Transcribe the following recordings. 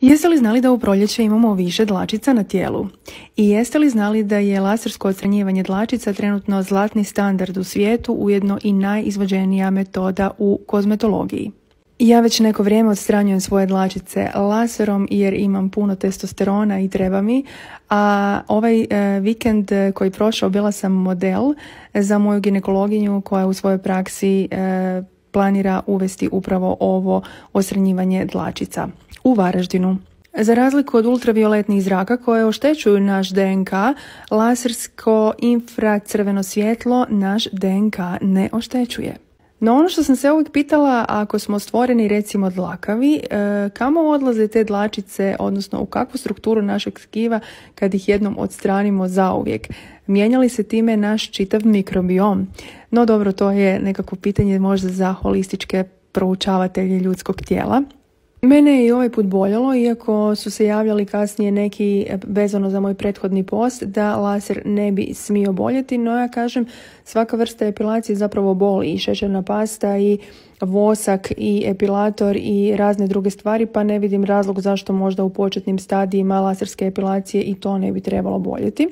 Jeste li znali da u proljeće imamo više dlačica na tijelu? I jeste li znali da je lasersko odstranjivanje dlačica trenutno zlatni standard u svijetu, ujedno i najizvođenija metoda u kozmetologiji? Ja već neko vrijeme odstranjujem svoje dlačice laserom jer imam puno testosterona i treba mi, a ovaj vikend koji prošao bila sam model za moju ginekologinju koja u svojoj praksi planira uvesti upravo ovo odstranjivanje dlačica u Varaždinu. Za razliku od ultravioletnih zraka koje oštećuju naš DNK, lasersko infracrveno svjetlo naš DNK ne oštećuje. No ono što sam se uvijek pitala, ako smo stvoreni recimo dlakavi, kamo odlaze te dlačice, odnosno u kakvu strukturu našeg tkiva kad ih jednom odstranimo zauvijek? Mijenja li se time naš čitav mikrobiom? No dobro, to je nekako pitanje možda za holističke proučavatelje ljudskog tijela. Mene je i ovaj put boljelo, iako su se javljali kasnije neki vezano za moj prethodni post da laser ne bi smio boljeti, no ja kažem svaka vrsta epilacije zapravo boli, i šećerna pasta i vosak i epilator i razne druge stvari, pa ne vidim razlog zašto možda u početnim stadijima laserske epilacije i to ne bi trebalo boljeti.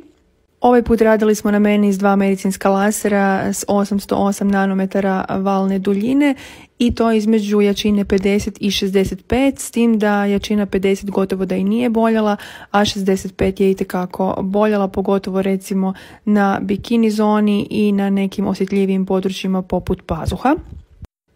Ovaj put radili smo na meni s 2 medicinska lasera s 808 nanometara valne duljine i to između jačine 50 i 65, s tim da jačina 50 gotovo da i nije boljela, a 65 je itekako boljela, pogotovo recimo na bikini zoni i na nekim osjetljivijim područjima poput pazuha.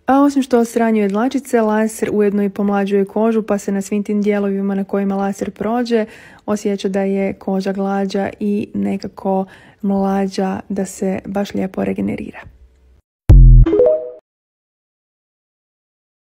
A osim što odstranjuje dlačice, laser ujedno i pomlađuje kožu, pa se na svim tim dijelovima na kojima laser prođe osjeća da je koža glađa i nekako mlađa, da se baš lijepo regenerira.